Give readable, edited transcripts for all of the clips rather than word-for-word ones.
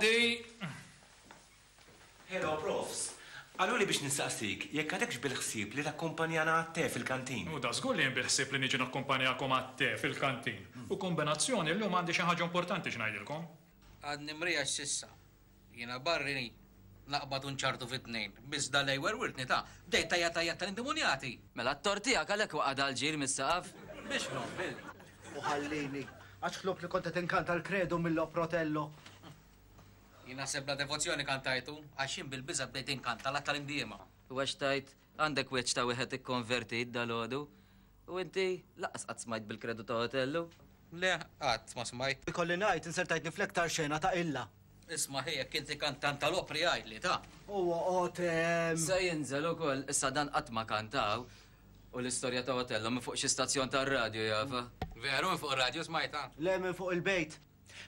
Għaddi! Hello, Profs. Qaluli biex nistaqsik jekk għadekx bil-ħsieb li takkumpanjana għat-te fil-kantin. U dażgur li jien bil-ħsieb li niġi nakkumpanjakom għat-te fil-kantin. U kumbinazzjoni llum għandi xi ħaġa importanti x'ngħidilkom. Għadni mriegħex s'issa. Jiena barri naqbad u nċarrtu fi tnejn. Biss dal-lejl werwirtni ta'. Bdejt tgħajjat tgħajjat tal-indimunjati! Mela t-tort tiegħek għalhekk waqa' dal-ġir mis-saqaf? Biex ħlomt, Bill? U ħallini, għax ħlomt li kont qed inkanta l-Credo mill-opra Otello. Jien naħseb bla devozzjoni kantajtu, għax jien bil-biża' bdejt inkanta l-Att tal-Indiema. U għax tgħid, għandek wiċċ ta' wieħed ikkonvertit dalgħodu. U inti, lanqas qatt smajt bil-Kredu ta' Otello? Le, qatt ma smajt. Ikolli ngħid, insertajtni fl-iktar xena ta' qilla. Isma' ħi, jekk inti kantant tal-opri għidli, ta. U oqgħod hemm. Se jinżel ukoll, issa dan qatt ma kantaw. U l-istorja ta' Otello minn fuq xi stazzjon tar-radju jafha. Veru, minn fuq ir-radju smajtha? Le, minn fuq il-bejt.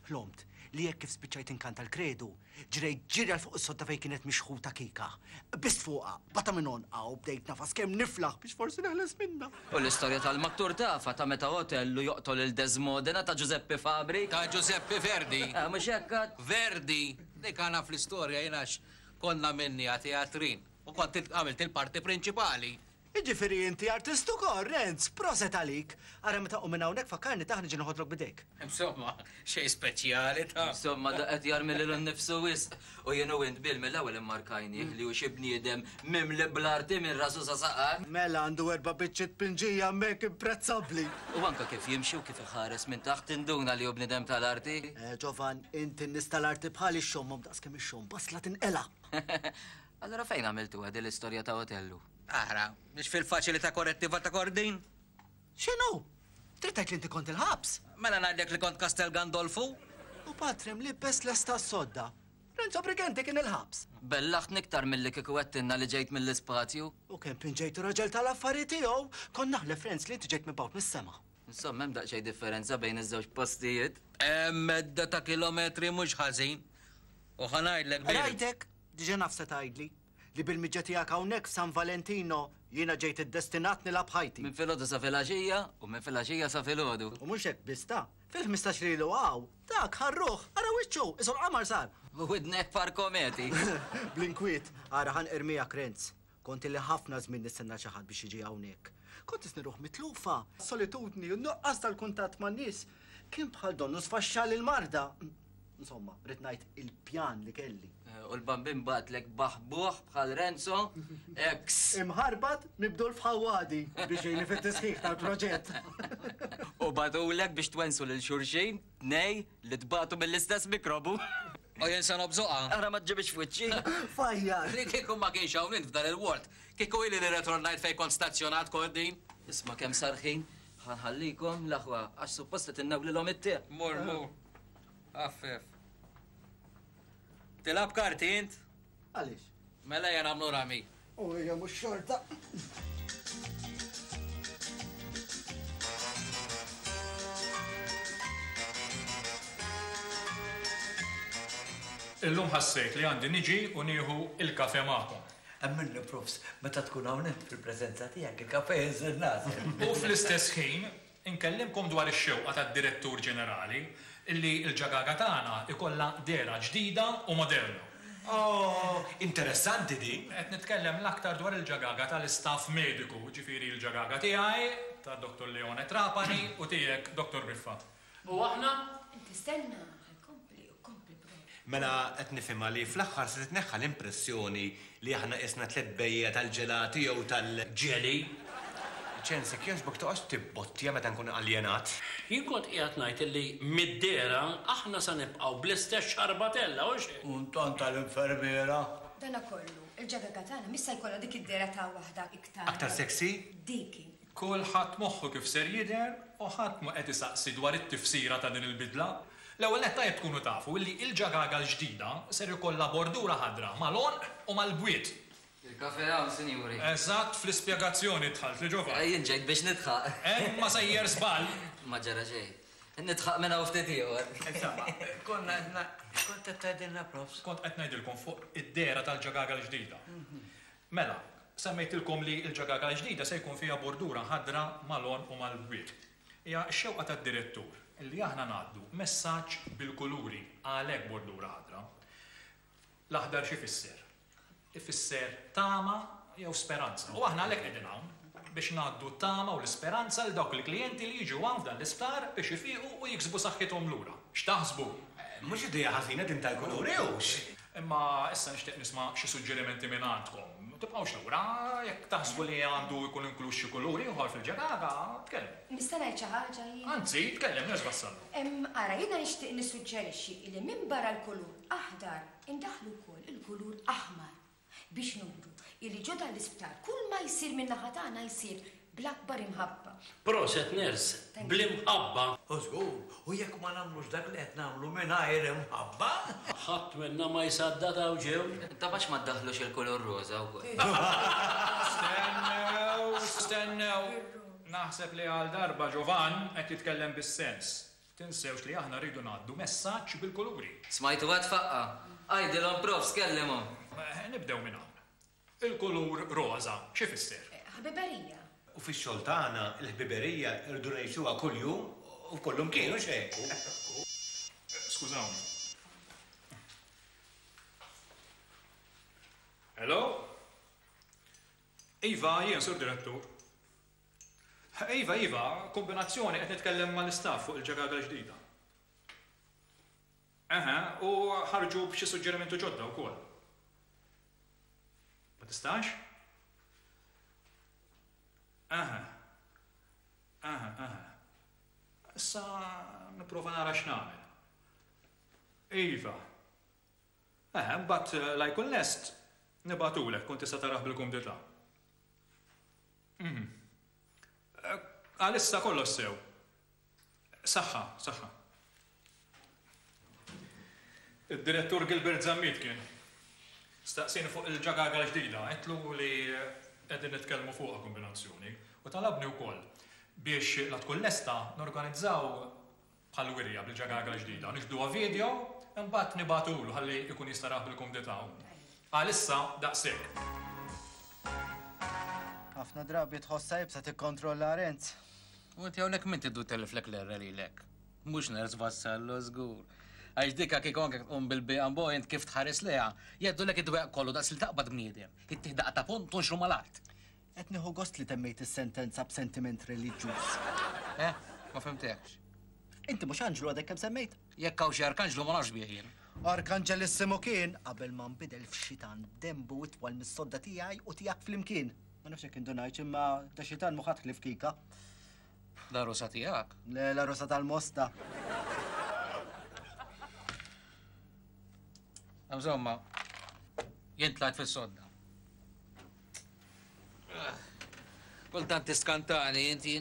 Ħlomt li hekk kif spiċċajt inkanta l-Kredu, ġrejt ġiri għal fuq is-sodda fejn kienet mixħuta Kika. Qbiżt fuqha, qbadtha minn għonqha u bdejt nagħfas kemm niflaħ biex forsi neħles minnha. U l-istorja tal-mattur tafha, ta' meta Otellu joqtol lil Desmodena ta' Giuseppe Fabri? Ta' Giuseppe Verdi. Eh, mhux hekk għad? Verdi! Dik għana fl-istorja jien għax konna minnija teatrin u kont għamilt il-parti prinċipali. Jiġifieri inti artist ukoll, Renz! Proset għalik! Ara meta nqum minn hawnhekk fakkarni tah niġi noħodlok b'idejk. Insomma, xejn speċjali ta'. Insomma, da qed jarmi lilu nnifsu wisq. U jien u int Bill mill-ewwel immarkajnih li hu xi bniedem mimli bl-arti minn rasu sa saqajh. Mela għandu erba' biċċiet pinġija hemmhekk imprezzabbli! U anke kif jimxi u kif iħares minn taħt tinduna li hu bniedem tal-arti. Eh, Ġovan, int in-nies tal-arti bħali xxommhom daqskemm ixxomm basla tinqela'. Allura fejn għamiltuha din l-istorja ta' Otellu? Ara, mhix fil-faċilità korrettiva ta' Kordin? X'inhu? Trid tgħid li inti kont il-ħabs? Mela ngħidlek li kont Castel Gandolfu? U Patri mlibbes lesta għas-sodda. Renzo Brighenti kien il-ħabs. Bellaħtni iktar milli kieku għedtilna li ġejt mill-ispazju. U kemm pinġejtu raġel tal-affari tiegħu, kont naħlef Renz li inti ġejt mibgħut mis-sema. Insomma, hemm daqsxejn differenza bejn iż-żewġ postijiet. Hemm medda ta' kilometri mhux ħażin. U ħa ngħidlek Bill. Rajtek? Diġà naf se tgħidli. Li bil-miġja tiegħek hawnhekk f'San Valentino, jiena ġejt iddestinat nilgħab ħajti. Minn filgħodu sa filgħaxija u minn filgħaxija sa filgħodu. U mhux hekk biss ta'. Fil-15 li ilu hawn, dak ħarruh, ara wiċċu, qisu l-qamar sar. U widnejh par kometi. Bl-inkwiet, ara ħa nqir miegħek Renz. Kont ili ħafna żmien nistenna xi ħadd biex jiġi hawnhekk. Kont qisni ruħ mitlufa. Is-solitudni u n-nuqqas tal-kuntatt man-nies kien bħal donnu sfaxxali l-marda. Insomma, rrid ngħid il-pjan li kelli. U l-Bambin bagħatlek baħbuħ bħal Renzo, ex. Imħarbat mibdul f'ħawwadi biex jgħinni fit-tisħiħ tal-proġett. U bagħtulek biex twensu lil xulxin, tnej li tbatu mill-istess mikrobu. U jien se nobżoqha. Ara ma ġġibhiex f'wiċċi. Fajjar! Li kieku ma kienx hawn int f'dan il-ward, kieku ili li rretornajt fejn kont stazzjonat, Kordin. Isma' kemm sar ħin, ħa nħallikom, l-aħwa, għax suppost qed innewlilhom it-te. Mur, mur. Affef. Tilgħab karti int? Għaliex? Mela ejja nagħmlu rami. U hija mhux xorta. Illum ħassejt li għandi niġi u nieħu il-kafe magħkom. Emminni Profs, meta tkun hawn int fil-preżenza tiegħek il-kafe jinżel nagħsel. U fl-istess ħin Inkellimkom dwar ix-xewqa tad-Direttur Ġenerali illi l-ġagaga tagħna jkollha dehra ġdida u moderna. Oh, interessanti din! Qed nitkellem l-aktar dwar il-ġagaga tal-istaff mediku, jiġifieri l-ġagaga tiegħi, ta' Dottor Leone Trapani u tiegħek, Dottor Briffa. U aħna? Inti stenna, ħa jkompli u kompli proprju. Mela qed nifhimha li fl-aħħar se titneħħa l-impressjoni li aħna qisna tlett bejjiegħa tal-ġelati jew tal. Jelly. Ċens, jekk jogħġbok toqgħodx tibbottja meta nkun aljenat. Jien kont qiegħed ngħid illi mid-dehra aħna se nibqgħu bl-istess xarbatella, hux hekk? U ntant tal-infermiera. Dana kollu, il-ġagaga tagħna mhix se jkollha dik id-dehra ta' waħda iktar. Aktar sexy? Dik hi. Kulħadd moħħu kif ser jidher u ħadd mhu qed isaqsi dwar it-tifsira ta' din il-bidla. L-ewwel nett tajjeb tkunu tafu illi il-ġagaga l-ġdida ser ikollha bordura ħadra mal-għonq u mal-bwiet. Il-kafè hawn, sinjuri. Eżatt fl-ispjegazzjoni dħaltli Ġovan. Jien ġejt biex nidħaq. Hemm ma sejjer żball. Ma ġara xejn. Nidħaq minn hawn ftit ieħor. Insomma, konna qed ngħid, kont qed tgħidilna Profs? Kont qed ngħidilkom fuq id-dehra tal-ġagaga l-ġdida. Mela, semmejtilkom li l-ġagaga l-ġdida se jkun fiha bordura ħadra mal-għonq u mal-bwiet. Hija x-xewqa tad-direttur li aħna ngħaddu messaġġ bil-kuluri, għalhekk bordura ħadra. L-aħdar x'ifisser? Ifisser tama jew speranza. U aħna għalhekk qegħdin hawn, biex ngħaddu t-tama u l-isperanza lil dawk il-klijenti li jiġu hawn f'dan l-isptar biex ifiqu u jiksbu saħħithom lura. X'taħsbu? Mhux idea ħażina din tal-kuluri, hux? Imma issa nixtieq nisma' xi suġġerimenti mingħandkom. Tibqgħux lura, jekk taħsbu li għandu jkun inkluż xi kulur ieħor fil-ġagaga, tkellmu. Nista' ngħid xi ħaġa jien? Anzi, tkellem Nurse Vassallo. Ara, jiena nixtieq nissuġġerixxi li minbarra l-kulur aħdar indaħħlu wkoll il-kulur aħmar biex nuru illi ġo dan l-isptar kull ma jsir min-naħa tagħna jsir bl-akbar imħabba. Proset Nurse, bl-imħabba. U żgur, u jekk ma nagħmlux dak li qed nagħmlu mingħajr imħabba? Ħadd minna ma jsaddad hawn ġew. Taf għax ma ddaħħlux il-kulur roża wkoll. Stennew, stennew. Naħseb li għal darba Giovan qed jitkellem bis-sens. Tinsewx li aħna rridu ngħaddu messaġġ bil-kuluri. Smajtu għad faqqa'. Għidilhom profs kellimhom. Nibdew minn hawn. Il-kulur roża x'ifisser? Ħbiberija. U fix-xogħol tagħna l-ħbiberija rridu ngħixuha kuljum u f'kullumkien, hux hekk? Skużawni. Hello? Iva, jien Sur Direttur. Iva, iva, kombinazzjoni qed nitkellem mal-istaff fuq il-ġagaga l-ġdida. Eħe, u ħarġu b'xi suġġerimenti ġodda wkoll. Ma tistax? Eħe. Eħe, eħe. Issa nipprova nara x'nagħmel. Iva. Eħe, mbagħad la jkun lest nibgħatulek tkun tista' tarah bil-kumdità. Mhm. Għalissa kollox sew. Saħħa, saħħa. Id-direttur Gilbert Zammit kien. Staqsieni fuq il-ġagaga l-ġdida, għedtlu li qegħdin nitkellmu fuqha kombinazzjoni u talabni wkoll biex la tkun lesta norganizzaw bħal wirja bil-ġagaga l-ġdida, niġbduha video, imbagħad nibagħtulu ħalli jkun jista' jarah bil-kumdità hu. Għalissa daqshekk. Ħafna drabi tħossha iebsa tikkontrolla Renz. U inti hawnhekk min tiddu telliflek l-erre lilek? Mhux Nurse Vassallo żgur. Għax dika kieku anke tqum bil-biqambo int kif tħares lejha, jgħaddulek id-dwejjaq kollu daqs li taqbad bniedem, ittih daqqa ta' pont tonxru mal-art. Qed nieħu gost li temmejt is-sentenza b'sentiment reliġjuż. Eh, ma fhimtekx. Inti mhux anġlu għadek kemm semmejt? Jekk hawn xi arkanġlu ma nafx bih jien. Arkanġelissimu kien qabel ma nbidel f'xitan b'denbu itwal mis-sodda tiegħi u tiegħek flimkien. Ma nafx jekk indunajtx imma da xitan mhu ħadd ħlief Kika. L-għarusa tiegħek? Le, l-għarusa tal-Mosta. Insomma, jien tlajt fis-sodda. Kultant tiskantani, inti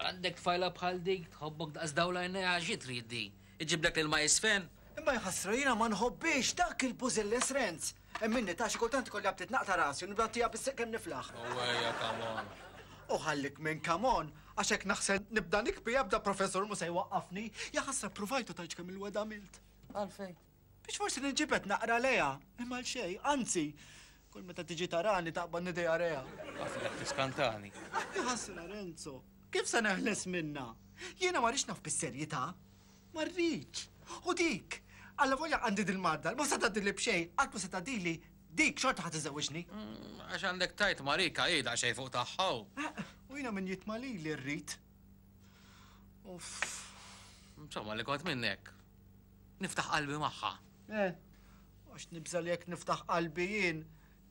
għandek tfajla bħal dik, tħobbok daqs dawla għajnejha xi trid di? Iġiblek l-ilma jisfen? Imma jħassra jiena ma nħobbix dak il-bużilles Renz. Hemm minni ta' xi kultant ikolli aptit naqta' rasi u nibda ntiha bis-seq kemm niflaħ. U ejja come on. U ħallik minn come on, għax hekk naħsel nibda nikbi ebda professur mhu se jwaqqafni. Jaħasra ppruvajt u tgħidx kemm il-wegħda għamilt. Għalfejn? Biex forsi ninġibed naqra lejha, imma għal xejn, anzi, kull meta tiġi tarani taqbadni diarrea. Taf li qed tiskantani. Jaħasra Renzo, kif se neħles minnha? Jiena ma rridx naf bis-serjetà. Ma rridx. U dik, allavolja għandi dil-marda, ma se tgħaddili b'xejn, qatt ma se tgħaddili, dik xorta ħa tiżżewwiġni. Għax għandek tgħid Marika hi daqsxejn fuq tagħha. U jiena min jitma' lili rrid. Uff. Insomma, li kont minnek. Niftaħ qalbi magħha. Eh, għax nibża' li jekk niftaħ qalbi jien,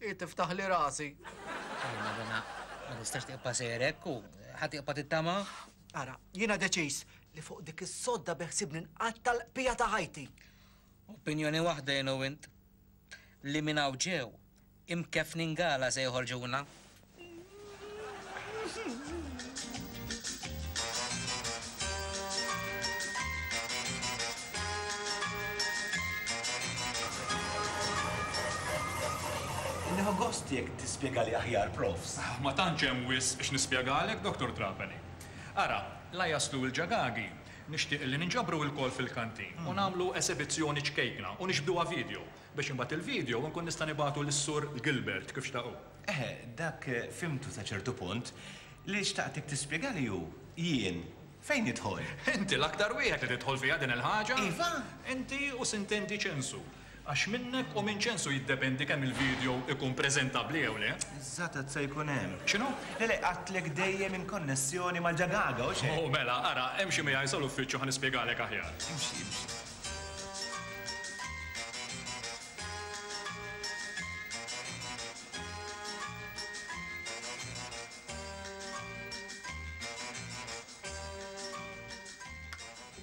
hi tiftaħli rasi. Imma dana ma tistax tibqa' sejjer hekk u ħa tibqa' tittama? Ara, jiena deċiż li fuq dik is-sodda beħsiebni nqatta' l-qbija ta' ħajti. Opinjoni waħda jien u int. Li minn hawn ġew, imkeffnin gala se joħorġuna. Nieħu gost jekk tispjegali aħjar, Profs. Ma tantx hemm wisq x'nispjegalek, Dottor Trapani. Ara, la jaslu l-ġagagi, nixtieq li ninġabru ilkoll fil-kantin u nagħmlu esebizzjoni ċkejkna u nixbduha video, biex imbagħad il-video nkun nista' nibagħtu lis-Sur Gilbert kif xtaq hu. Eħe, dak fhimtu sa ċertu punt. Li xtaqtek tispjegali hu, jien fejn nidħol? Inti l-aktar wieħed li tidħol fiha din il-ħaġa. Iva? Inti u sintendi Ċensu. Għax minnek u minn Ċensu jiddependi kemm il-video ikun preżentabbli jew le. Eżatt għad se jkun hemm. X'inhu? Le le, għadtlek dejjem in konnessjoni mal-ġagaga, hux hekk? Oh, mela, ara, emxi miegħi sal-uffiċċju ħa nispjegalek aħjar. Imxi, imxi.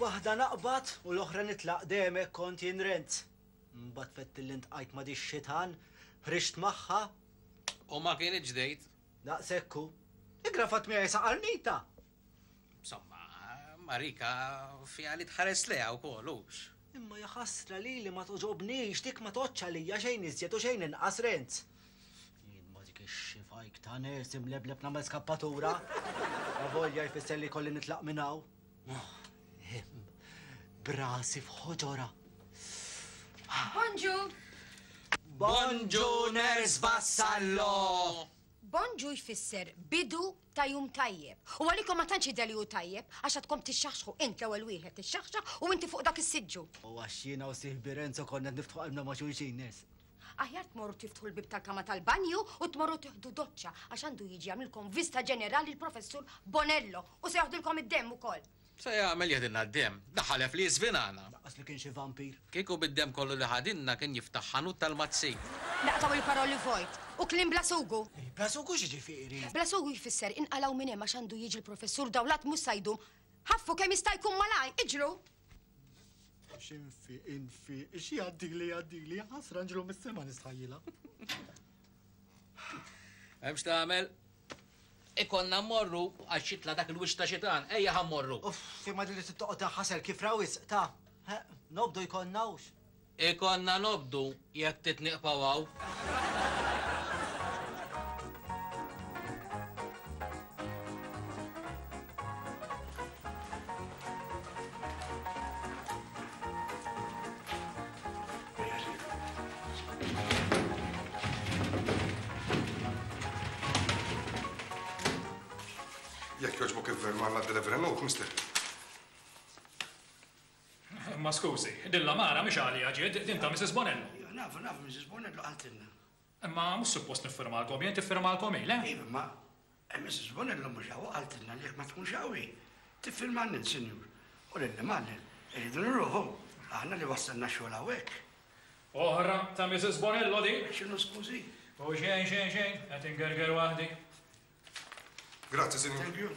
Waħda naqbad u l-oħra nitlaq dejjem hekk kont jien Renz. Mbagħad fett li ntqajt ma' dix-xitan, ħriġt magħha. U ma kinitx dejt. Daqshekk hu. Igrafat miegħi sa qarnita. Insomma, Marika fiha li tħares lejha wkoll, hux? Imma jaħasra lili ma togħġobnix, dik ma tgħoddx għalija xejn iżjed u xejn inqas Renz. Jien ma dik ix-xifajk ta' nurse imlebleb nagħmel skappatura. Avolja jfisser li jkolli nitlaq minn hawn. Hemm brasi f'ħoġorha. Bonġu! Bonġu Nurse Vassallo! Bonġu jfisser bidu ta' jum tajjeb. U għalikom ma tantx jidher li hu tajjeb għax għadkom tixxaħxħu int l-ewwel wieħed tixxaħxaħ u inti fuq dak is-siġġu. U għax jiena u sieħbi Renzo konna qed niftħu qalbna ma' xulxin, Nurse. Aħjar tmorru tiftħu l-bieb tal-kamra tal-banju u tmorru tieħdu doċċa għax għandu jiġi jagħmlilkom vista ġenerali l-Professur Bonello u se jaħdilkom id-demm ukoll. Se jagħmel jeħdilna d-demm. Da ħalef li jiżvinana. Lanqas li kien xi vampir. Kieku bid-demm kollu li ħadilna kien jiftaħ ħanut tal-mazzin. Naqtgħu il-paroli vojt u kliem bla sugu. Bla sugu x'jiġifieri? Bla sugu jfisser inqalgħu minn hemm għax għandu jiġi l-Professur Dawlat mhux sa jdum. Ħaffu kemm jista' jkun malajr, iġru! X'infiq, infiq, x'jgħaddili jgħaddili, ħasra nġru mis-sema nistħajjilha. Hemm x'tagħmel? Ikollna mmorru għax jitla' dak il-wiċċ ta' xitan. Ejja ħa mmorru. Uff, imma din li trid toqgħod tinħasel kif ra wisq ta'. Nobdu jkollna hux. Ikollna nobdu jekk trid nieqfgħu hawn. Jekk jogħġbok ivvermanna d-delivery note, mister. Ma skużi, din l-għamara mhix għalija ġiet, din ta' Mrs. Bonello. Iva, nafu, nafu, Mrs. Bonello qaltilna. Imma mhux suppost niffirmalkom jien, tiffirmalkom hi, le? Iva, ma Mrs. Bonello mhux hawn u qaltilna li jekk ma tkunx hawn hi, tiffirmalna int, sinjur. U lilli m'għallem, irridu nruħu, aħna li wassalna x-xogħol hawnhekk. Oħra ta' Mrs. Bonello din. X'inhu skużi? U xejn, xejn, xejn, qed ingerger waħdi. Grazzi, sinjur. Thank you.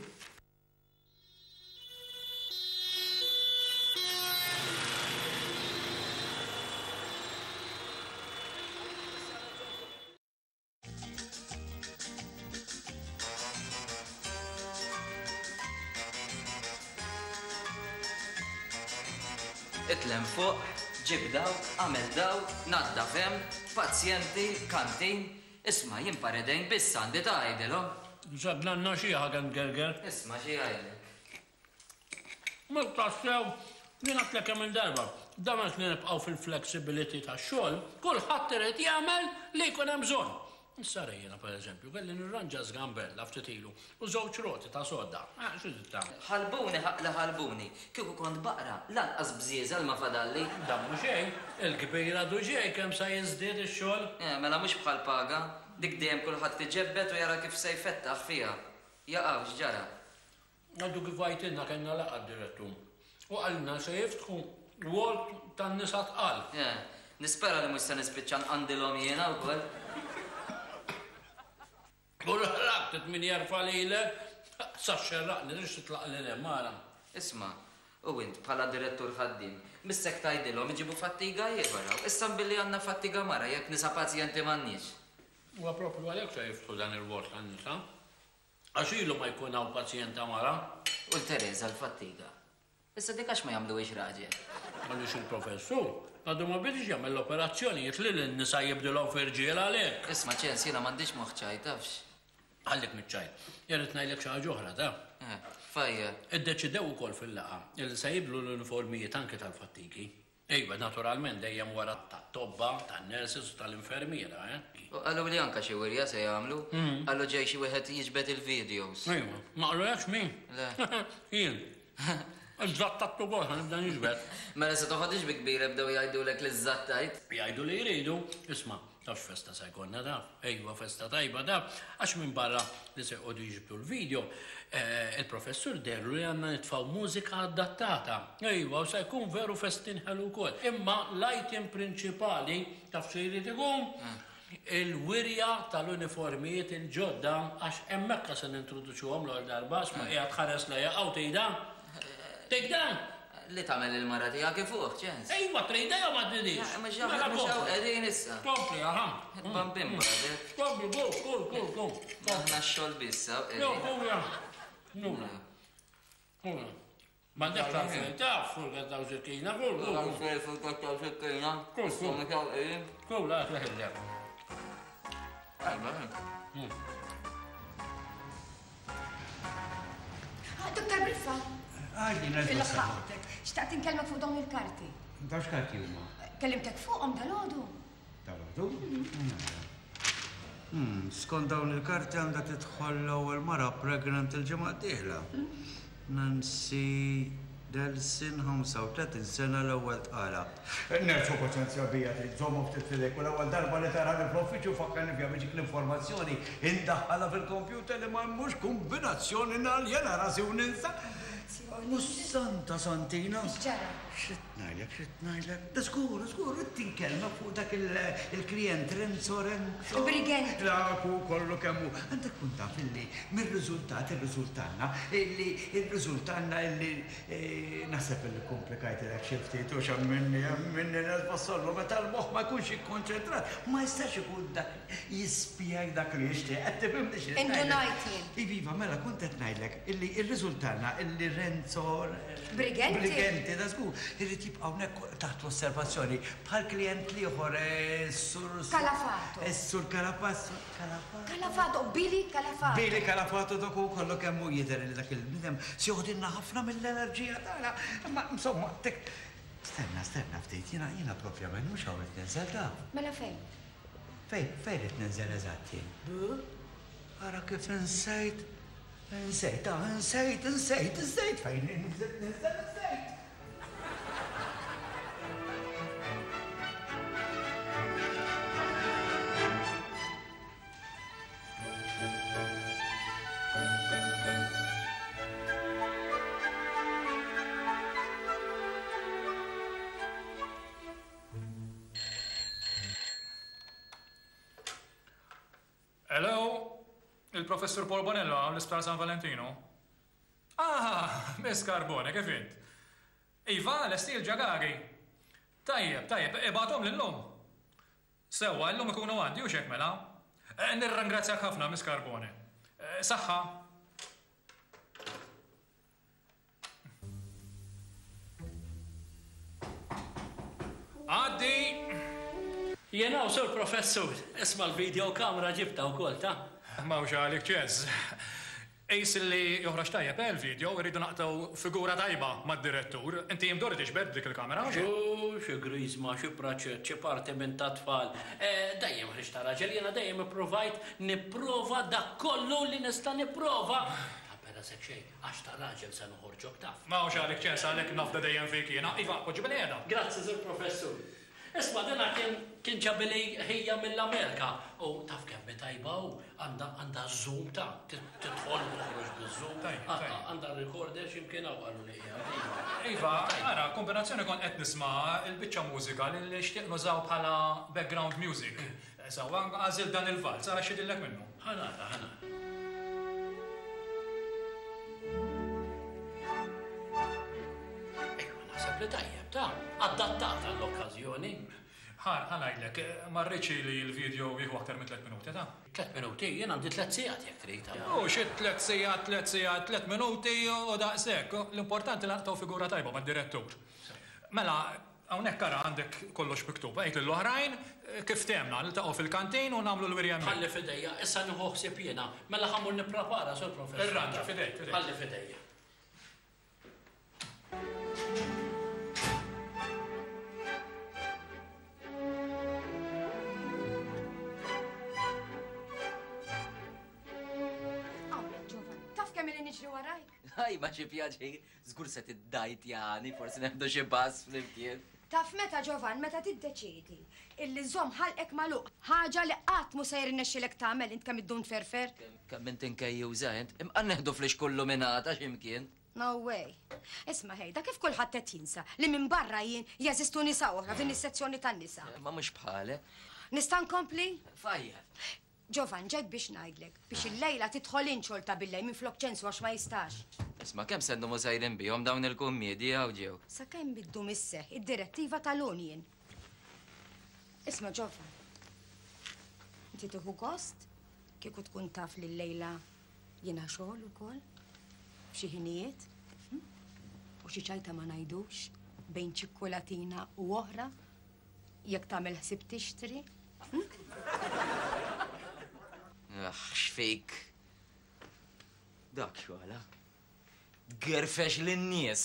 Itlem fuq, ġib dawk, għamel dawk, naddaf hemm, pazjenti, kantin. Isma' jien paredejn biss għandi ta' għidilhom. Żadlanna xi ħaga ngerger. Isma' xi jgħidlek. Mhux tassew, jien għedtlek kemm-il darba, dan għax li nibqgħu fil-flexibility tax-xogħol, kulħadd irid jagħmel li jkun hemm bżonn. Issa ara jiena pereżempju, kelli nirranġa żgambella ftit ilu u żewġ roti ta' sodda. Eh, xi trid tagħmel? Ħalbuni ħaqq li ħalbuni. Kieku kont baqra, lanqas bżieżel ma fadalli. Dan mhu xejn, il-kbir għadu ġej kemm sa jiżdied ix-xogħol. Eh, mela mhux bħall-paga, dik dejjem kulħadd iġebbed u jara kif se jfettaħ fiha. Jaqaw, x'ġara? Għadu kif għajtilna kellna laqgħa d-direttur u qalilna se jiftħu ward tan-nisa tqal. Eh, nispera li mhux se nispiċċa nqandilhom jiena wkoll. U l-ħrab min jerfa' lilek sa xxerraqni tridx titlaq lil hemm ara. Isma', u int bħala direttur ħaddiem, missek tgħidilhom iġibu fattiga ieħor hawn. Issa mbilli għandna fattiga mara jekk nisa pazjenti m'għandniex. Huwa proprju għalhekk se jiftħu dan il-ward tan-nisa. Għax ilu ma jkun hawn pazjenta mara. U l-Tereża l-fattiga. Issa dik għax ma jagħmluhiex raġel? Għaliex il-professur għadu ma bidiex jagħmel l-operazzjonijiet li lin-nisa jibdilhom fi rġiel għalhekk. Isma' Ċens jiena m'għandix moħħ ċajt tafx. Ħallik miċ-ċajt. Irrid ngħidlek xi ħaġa oħra taf. Eh, fajjar. Iddeċidew ukoll fil-laqgħa li se jibdlu l-uniformijiet anke tal-fattigi. Iva, naturalment dejjem wara tat-tobba, tan-nurses u tal-infermiera, eh. U qaluli anke xi wirja se jagħmlu. Qalu ġej xi wieħed jiġbed il-videos. Iva. Ma qalulekx min? Le. Jien. Iżżattat ukoll ħa nibda niġbed. Mela se toħodhiex bi kbira bdew jgħidulek li żżattajt. Jgħidu li jridu, isma', taf x'festa se jkollna taf? Ejwa festa tajba taf, għax minbarra li se joqogħdu jiġbdu l-video, il-professur deherlu li għandna nitfgħu mużika adattata. Ejwa, u se jkun veru festin ħelu wkoll. Imma l-item prinċipali taf xi jrid ikun? Il-wirja tal-uniformijiet il-ġodda għax hemmhekk se nintroduċuhom l-ewwel darba, isma' qiegħed tħares lejha hawn tgħidha? Tgħidha? Li tagħmel il-mara tiegħek ifuħ, ċens. Ejwa tridha jew ma tridhiex? Mhux hawn mhux hawn qegħdin issa. Kompli, aha. Bambin bagħdek. Kompli, go, go, go, go. Aħna x-xogħol biss hawn qegħdin. Jo, kura. Nura. Kura. M'għandekx għalfejn taf fuq daw sikkina, kull. Għalfejn fuq daw sikkina. Kull, kull. Kull, għat leħillek. Dottor Briffa. Għadni Il-ħaqtek. Xtaqt inkellmek fuq dawn il-karti. Dawn x'karti huma? Kellimtek fuqhom dal-għodu. Dal-għodu? Skont dawn il-karti għandha tidħol l-ewwel mara pregnant il-ġimgħa d-dieħla. Nancy Delsin, 35 sena l-ewwel tqala. Nerġgħu paċenzja bija trid żommhom ftit f'idejk u l-ewwel darba li tarani fl-uffiċċju fakkarni fiha biex dik l-informazzjoni indaħħalha fil-kompjuter li ma mhux kumbinazzjoni naljena rasi u ninsa. U Santa Santina! X'ġara? X'qed ngħidlek, x'qed ngħidlek? Da żgur, żgur, ridt inkellmek fuq dak il-klijent Renzo Renzo. Briganti. Dak hu kollu kemm hu. Għandek tkun taf illi mir-riżultat irriżultalna illi irriżultalna illi naħseb illi kkumplikajtilek xi ftit u x'għamilni għamilni nasbassollu meta l-moħħ ma jkunx ikkonċentrat ma jistax ikun dak jispjeg dak li jixtieq. Qed tifhimni x'qed ngħidlek? Indunajt jien. Iva, iva, mela kont qed ngħidlek illi rriżultalna illi Renzo Briganti. Briganti, da żgur, irid jibqa' hawnhekk taħt l-osservazzjoni bħal klijent l-ieħor sur Calafato. Sur Calafato, Calafato. Calafato, Billy Calafato. Billy Calafato dak hu kollu kemm hu jidher li dak il-bniedem se joħdilna ħafna mill-enerġija tagħna. Imma insomma, tek Stenna, stenna ftit, jiena jiena propjament mhux hawn qed ninżel taf. Mela fejn? Fejn, fejn qed ninżel eżatt jien? Ara kif insejt. Insejt, ah, insejt, insejt, insejt fejn insejt, insejt. Hello? Il-Professur Paul Bonello hawn l-Isptar San Valentino? Ah, Miss Carbone, kif int? Iva, lesti l-ġagagi. Tajjeb, tajjeb, ibgħathom lillum. Sewwa, illum ikunu għandi, hux hekk mela? Eh, nirringrazzjak ħafna, Miss Carbone. Eh, saħħa. Għaddi! Jien hawn, Sur Professur. Isma' l-video camera ġibtha wkoll, ta? M'hawnx għalik ċeż. Qis li joħroġ tajjeb, eh, l-video, irridu naqtgħu figura tajba mad-direttur. Inti imdorri tiġbed b'dik il-kamera, hux hekk? Xu, xi griżma, xi praċett, xi parti minn tat-tfal. Eh, dejjem ħriġt ta' raġel, jiena dejjem ippruvajt nipprova dak kollu li nista' nipprova. Ta' bela xejn. Għax ta' raġel se noħorġok taf. M'hawnx għalik ċens għalhekk nafda dejjem fik jiena. Iva, poġġi bilqiegħda. Grazzi, Sur Professur. Isma' dina kien kien ġabili ħija mill-Amerika u taf kemm hi tajba hu, għandha għandha ż-zoom ta' tidħol u toħroġ biż-zoom. Tajjeb, tajjeb. Għandha recorder xi mkien hawn qaluli qiegħed, iva. Iva, ara, kombinazzjoni kont qed nisma' l-biċċa mużika li nixtieq nużaw bħala background music. Sewwa, għażilt dan il-valz, ara x'jidhirlek minnu. Ħa nara, ħa nara. Ejwa, naħseb li tajjeb, ta' adattat għall-okkażjoni. Ħa, ħa ngħidlek, ma rridx li l-video jieħu aktar minn tlett minuti, ta'. Tlett minuti? Jien għandi tlett sigħat jekk trid. U xi tlett sigħat, tlett sigħat, tlett minuti u daqshekk. L-importanti li naqtgħu figura tajba mad-direttur. Mela, Hawnhekk ara għandek kollox miktub. Għid lill-oħrajn kif ftehemna, niltaqgħu fil-kantin u nagħmlu l-wirja hemmhekk. Ħalli f'idejja, issa nieħu ħsieb jiena. Mela ħa mmur nipprepara, Sur Professur. Irranġa, f'idejk, f'idejk. Ħalli f'idejja. Hawnhekk, Ġovan, taf kemm ili. Niġri warajk. Ħaj, ma xi pjaċir, żgur se tiddajtjani, forsi neħdu xi pass flimkien. Taf meta Ġovan, meta tiddeċiedi illi żomm ħalqek magħluq, ħaġa li qatt mhu se jirnexxilek tagħmel int kemm iddum tferfer. Kemm int inkejjuża int, imqar neħdu flixkun luminata x'imkien. No way. Isma' ħejda, kif kulħadd qed jinsa li minbarra jien jeżistu nisa oħra f'din is-sezzjoni tan-nisa. Ma mhux bħalek. Nista' nkompli? Fajja. Ġovan, ġejt biex ngħidlek biex illejla tidħol int xogħol ta' billejl minflok ċensu għax ma jistax. Isma' kemm se ndumu sejrin bihom dawn il-kummiedji hawn ġew? Sakemm iddum isseħħ id-direttiva tal-union. Isma' Ġovan. Inti tieħu gost kieku tkun taf li llejla jiena xogħol ukoll f'xi ħinijiet? Hm? U xi ċajta ma ngħidux bejn ċikkulatina u oħra Jekk tagħmel ħsieb tixtri. Hm? Aħ, x'fik. Dak xogħla. Tgerfex lin-nies.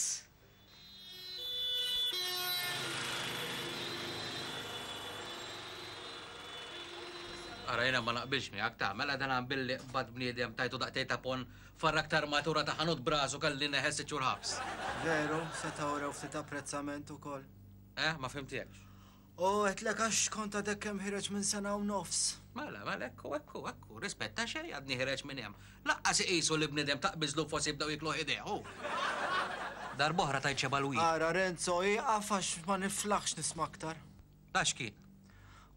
Ara jiena ma naqbilx miegħek ta' mela dan billi qbad bniedem tajtu daqtej ta' pon farrak ta' armatura ta' ħanut brasu kelli neħel sitt xhur ħabs. Veru, setgħu wrew ftit apprezzament ukoll. Eh, ma fhimtekx. U għedtlek għax kont għadek kemm ħireġ minn sena u nofs. Mela, mela, ekku, ekku, ekku, rispetta xejn għadni ħireġ minn hemm. Laqqas iqisu li bniedem taqbiżlu forsi jibdew jikluh idejh, hu. Darb'oħra tajt xebgħa l-wieħed. Ara Renzo, ieqaf għax ma niflaħx nisma' aktar. Ta' x'kien?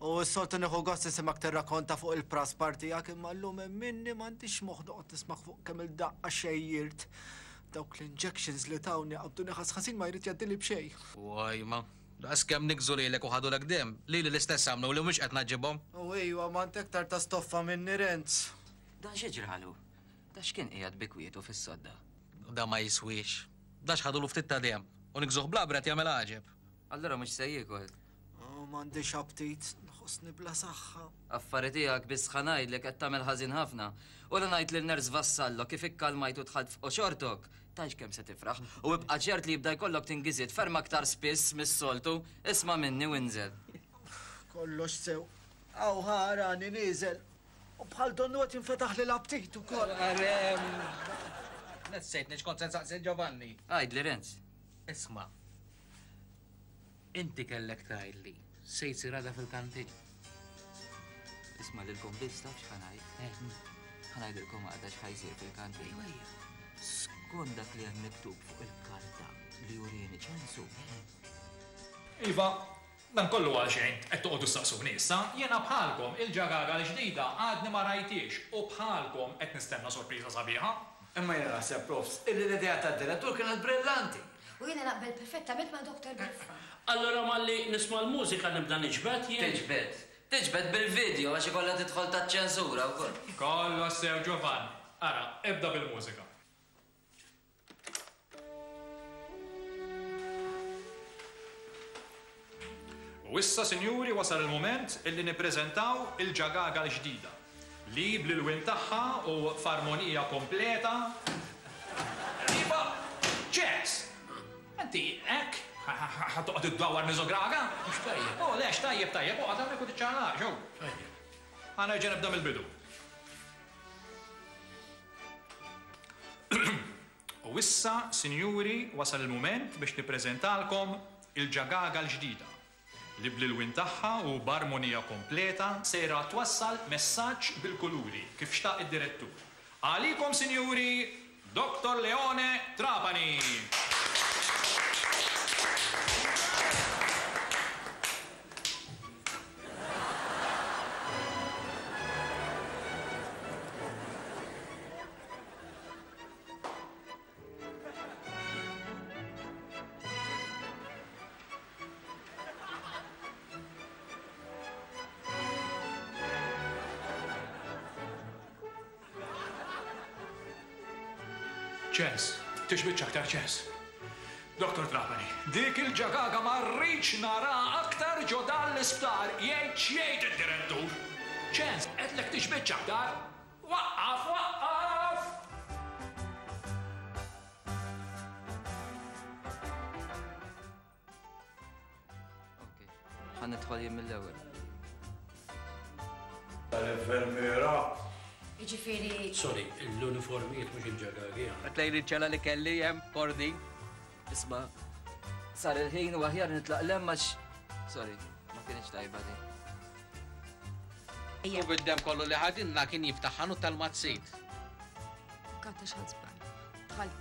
U s-soltu nieħu gost nisimgħek tirrakonta fuq il-praspar tiegħek imma llum emminni m'għandix moħħ noqgħod nismgħek fuq kemm-il daqqa xejjirt. Dawk l-injections li tawni qabduni ħass ħażin ma jrid jgħaddili b'xejn. Wajma, daqs kemm niggżu lilek u ħadulek demm, lili l-istess għamlu li mhux qed ngħaġġibhom. U ejwa, ma int aktar ta' stoffa minni Renz. Dan xi ġralu? Da x'kien qiegħed bi kwietu fis-sodda? Da ma jiswiex. Da x'ħadulu ftit ta' demm u niggżuh bl-abra qed jagħmel għaġeb. Allura mhux se jiekol? Oh, m'għandix aptit, nħossni bla saħħa. Affari tiegħek biss ħa ngħidlek qed tagħmel ħażin ħafna. U la ngħid lil Nurse Vassallo kif ikkalmajt u dħalt f'qoxortok, tgħidx kemm se tifraħ. U ibqa' ċert li jibda jkollok tingiżiet ferm aktar spiss mis-soltu. Isma' minni u inżel. Kollox sew. Hawn ħa arani nieżel. U bħal donnu qed jinfetaħli l-aptit ukoll. Nessejtni x'kont se nsaqsi 'l Giovanni. Għidli Renz. Isma'. Inti kellek tgħidli se jsir għada fil-kantin. Isma' lilkom biss taf x'ħa ngħid? Eh. Ħa ngħidilkom għada x'ħa jsir fil-kantin. Skont dak li hemm miktub fuq il-karta li urieni ċensu. Iva, dan kollu għal xejn, qed toqgħodu ssaqsuni issa. Jiena bħalkom, il-ġagaga l-ġdida għadni ma rajthiex u bħalkom qed nistenna sorpriża sabiħa. Imma jiena naħseb, Profs, illi l-idea tad-direttur kienet brillanti. U jiena naqbel perfettament ma' Doctor Beffa. Allura malli nisma' l-mużika nibda niġbed jien? Tiġbed. Tiġbed bil-video għax ikollha tidħol taċ-ċensura wkoll. Kollox sew Giovan. Ara, ibda bil-mużika. U issa, sinjuri, wasal il-mument illi nippreżentaw il-ġagaga l-ġdida. Li bl-ilwien tagħha u f'armonija kompleta. Iva! Ċens! Inti hekk ħa toqgħod iddawwar miżograga? Mhux tajjeb. Oh, le, x'tajjeb tajjeb, oqgħod hawnhekk u tiċċaqlaqx, hu. Tajjeb. Ħa nerġa' nibda mill-bidu. U issa, sinjuri, wasal il-mument biex nippreżentalkom il-ġagaga l-ġdida. Li bl-ilwien tagħha u b'armonija kompleta sejra twassal messaġġ bil-kuluri kif xtaq id-direttur. Għalikom sinjuri, Doctor Leone Trapani! Ċens, tixbitx aktar ċens. Dottor Trapani, dik il-ġagaga ma rridx nara aktar ġo dan l-isptar, jgħid x'jgħid id-direttur. Ċens, għedtlek tixbitx aktar. Waqqaf, waqqaf! Ok, ħa nidħol jien mill-ewwel. Tal-infermiera. Jiġifieri. Sorry, l-uniformijiet mhux il-ġagagi. Tlejn iċ-ċella li kelli hemm kordi. Isma', sar il-ħin u aħjar nitlaq 'l hemm għax. Sorry, ma kinitx tajba din. U bid-demm kollu li ħadilna kien jiftaħ ħanut tal-mazzit. Kata x'ħadd żball. Dħalt.